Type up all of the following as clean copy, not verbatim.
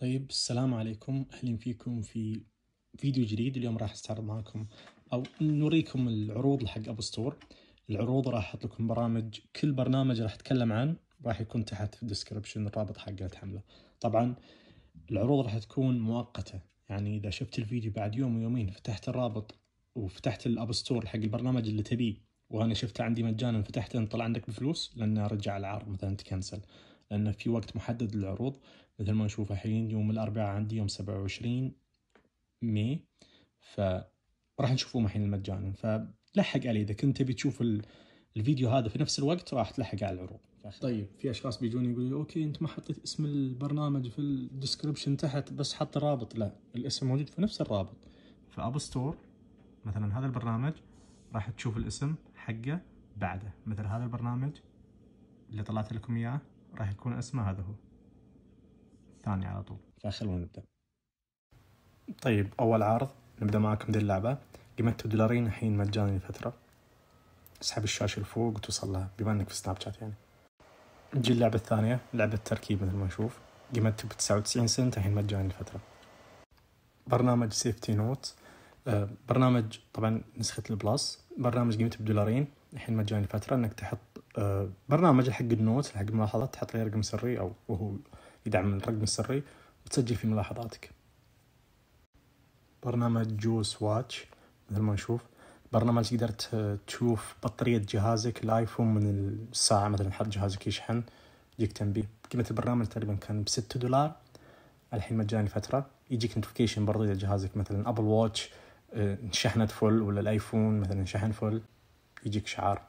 طيب السلام عليكم، أهلا فيكم في فيديو جديد. اليوم راح استعرض معكم أو نوريكم العروض حق أبو ستور. العروض راح أحط لكم برامج، كل برنامج راح أتكلم عنه راح يكون تحت في الديسكربشن الرابط حقه تحمله. طبعا العروض راح تكون مؤقتة، يعني إذا شفت الفيديو بعد يوم ويومين فتحت الرابط وفتحت الأب ستور حق البرنامج اللي تبيه وأنا شفته عندي مجانا فتحته طلع عندك بفلوس، لأن أرجع العرض مثلا تكنسل، لأن في وقت محدد للعروض. مثل ما نشوف الحين يوم الأربعاء عندي يوم 27 ماي، فراح نشوفه الحين مجانا، فلحق عليه إذا كنت تبي تشوف الفيديو هذا في نفس الوقت راح تلحق على العروض. طيب في اشخاص بيجوني يقولوا اوكي انت ما حطيت اسم البرنامج في الديسكربشن تحت بس حط الرابط. لا، الاسم موجود في نفس الرابط في اب ستور. مثلا هذا البرنامج راح تشوف الاسم حقه بعده، مثل هذا البرنامج اللي طلعت لكم اياه راح يكون اسمه هذا هو ثاني على طول. فخلونا نبدا. طيب اول عرض نبدا معكم دي اللعبه، قيمتها $2 الحين مجاني لفتره. اسحب الشاشه لفوق وتوصل لها بما انك في سناب شات. يعني نجي اللعبة الثانية، لعبة تركيب مثل ما نشوف، قيمتها ب99 سنت الحين مجاني لفترة. برنامج سيفتي نوت، برنامج طبعا نسخة البلس، برنامج قيمته $2 الحين مجاني لفترة. انك تحط برنامج حق النوت حق الملاحظات، تحط له رقم سري او وهو يدعم الرقم السري وتسجل في ملاحظاتك. برنامج جوس واتش مثل ما نشوف، برنامج تقدر تشوف بطارية جهازك الايفون من الساعة، مثلا حط جهازك يشحن يجيك تنبيه. قيمة البرنامج تقريبا كان $6 الحين مجاني فترة. يجيك نوتيفيكيشن برضه إذا جهازك مثلا أبل واتش شحنت فل، ولا الآيفون مثلا شحن فل يجيك شعار.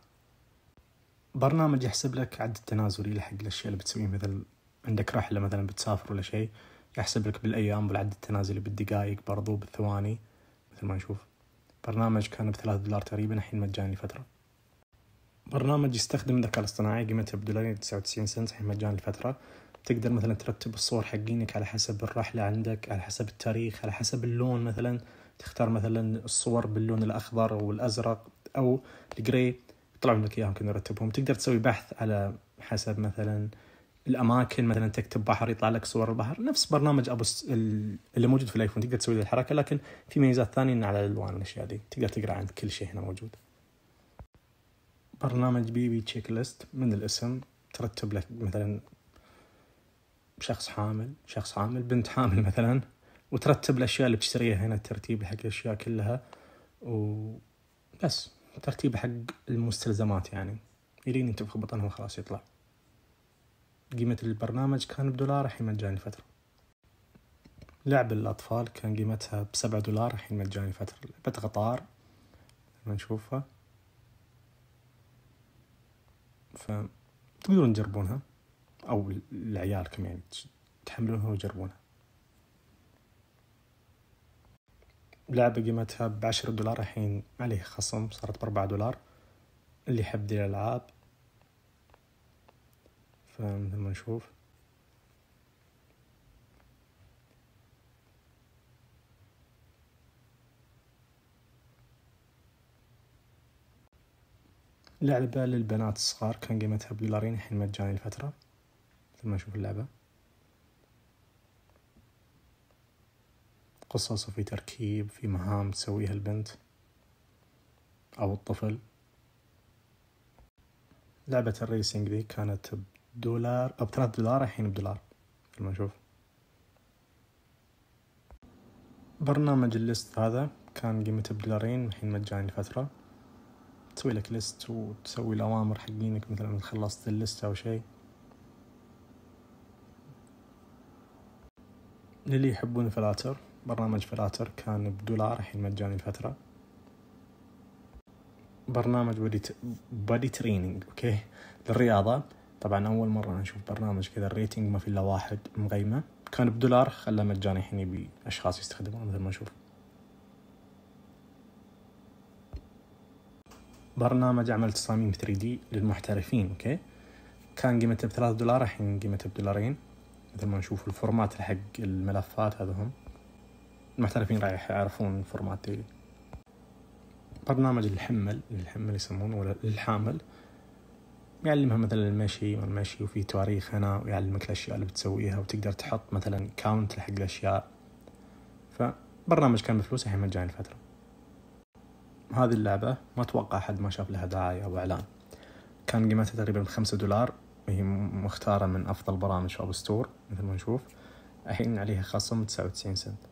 برنامج يحسب لك عد التنازلي لحق الأشياء اللي بتسويه، مثل عندك رحلة مثلا بتسافر ولا شيء يحسب لك بالأيام بالعد التنازلي بالدقائق برضه بالثواني مثل ما نشوف. برنامج كان $3 تقريبا الحين مجاني فترة. برنامج يستخدم الذكاء الاصطناعي قيمته $2.99 الحين مجاني لفترة. تقدر مثلا ترتب الصور حقينك على حسب الرحلة عندك، على حسب التاريخ، على حسب اللون. مثلا تختار مثلا الصور باللون الأخضر أو الأزرق أو الجري، يطلعون لك إياهم كنا نرتبهم. تقدر تسوي بحث على حسب مثلا الأماكن، مثلا تكتب بحر يطلع لك صور البحر، نفس برنامج اللي موجود في الآيفون. تقدر تسوي الحركة، لكن في ميزات ثانية على الألوان والأشياء دي. تقدر تقرأ عن كل شيء هنا موجود. برنامج بي تشيك ليست، من الاسم ترتب لك مثلا شخص حامل بنت حامل مثلا، وترتب الأشياء اللي بتشتريها هنا، الترتيب حق الأشياء كلها وبس، ترتيب حق المستلزمات يعني يلين انت في بطنها وخلاص يطلع. قيمة البرنامج كان $1 الحين مجاني فترة. لعب الأطفال كان قيمتها $7 الحين مجاني فترة. لعبة قطار ما نشوفها، فتقدرون تجربونها أو لعيالكم يعني تحملونها ويجربونها. لعبة قيمتها $10 الحين عليه خصم، صارت $4. اللي يحب دي الألعاب فمثل ما نشوف لعبة للبنات الصغار كان قيمتها $2 الحين مجاني لفترة. مثل ما نشوف اللعبة قصص وفي تركيب، في مهام تسويها البنت أو الطفل. لعبة الريسينج دي كانت $1 أو $3 الحين $1 مثل ما نشوف. برنامج الليست هذا كان قيمته $2 الحين مجاني لفترة. تسوي لك ليست وتسوي الأوامر حقينك، مثلا خلصت الليست أو شيء. للي يحبون فلاتر، برنامج فلاتر كان $1 الحين مجاني لفترة. برنامج بودي تريننج اوكي للرياضة. طبعا أول مرة نشوف برنامج كذا الريتنج ما في إلا 1 مقيمة، كان $1 خلاه مجاني الحين يبي أشخاص يستخدمونه مثل ما نشوف. برنامج عمل تصاميم 3D للمحترفين اوكي، كان قيمته $3 الحين قيمته $2 مثل ما نشوف. الفورمات حق الملفات هذا هم المحترفين راح يعرفون الفورمات دي. برنامج الحمل يسمونه ولا الحامل، يعلمها مثلا المشي والمشي، وفي تواريخ هنا، ويعلمك الأشياء اللي بتسويها، وتقدر تحط مثلا كاونت لحق الأشياء. فبرنامج كان بفلوس، الحين مجاني الفترة. هذه اللعبة ما أتوقع أحد ما شاف لها دعاية أو إعلان، كان قيمتها تقريبا $5، وهي مختارة من أفضل برامج في أب ستور مثل ما نشوف. الحين عليها خصم 99 سنت.